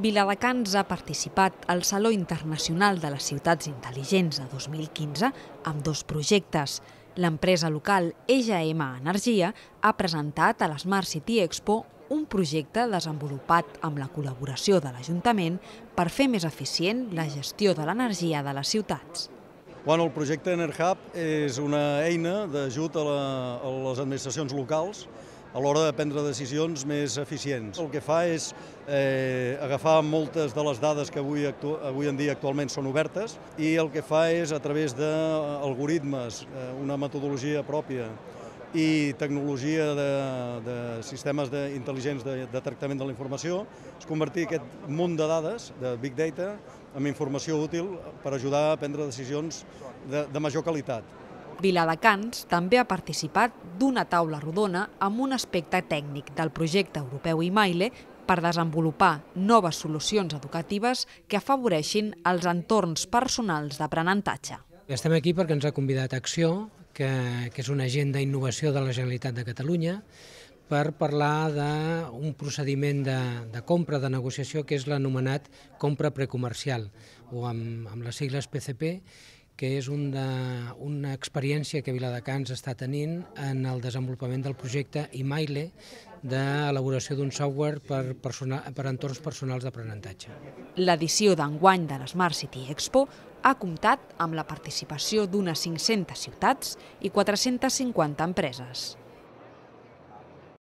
Viladecans ha participat al Saló Internacional de les Ciutats Intel·ligents de 2015 amb dos projectes. L'empresa local EGM Energia ha presentat a l'Smart City Expo un projecte desenvolupat amb la col·laboració de l'Ajuntament per fer més eficient la gestió de l'energia de les ciutats. El projecte EnerHub és una eina d'ajut a les administracions locals a l'hora de prendre decisions més eficients. El que fa és agafar moltes de les dades que avui en dia actualment són obertes i el que fa és, a través d'algoritmes, una metodologia pròpia i tecnologia de sistemes intel·ligents de tractament de la informació, és convertir aquest munt de dades, de Big Data, en informació útil per ajudar a prendre decisions de major qualitat. Viladecans també ha participat d'una taula rodona amb un aspecte tècnic del projecte europeu IMAILE per desenvolupar noves solucions educatives que afavoreixin els entorns personals d'aprenentatge. Estem aquí perquè ens ha convidat Acció, que és una agent d'innovació de la Generalitat de Catalunya, per parlar d'un procediment de compra, de negociació, que és l'anomenat compra precomercial, o amb les sigles PCP, que és una experiència que Viladecans està tenint en el desenvolupament del projecte IMAILE d'elaboració d'un software per entorns personals d'aprenentatge. L'edició d'enguany de l'Smart City Expo ha comptat amb la participació d'unes 500 ciutats i 450 empreses.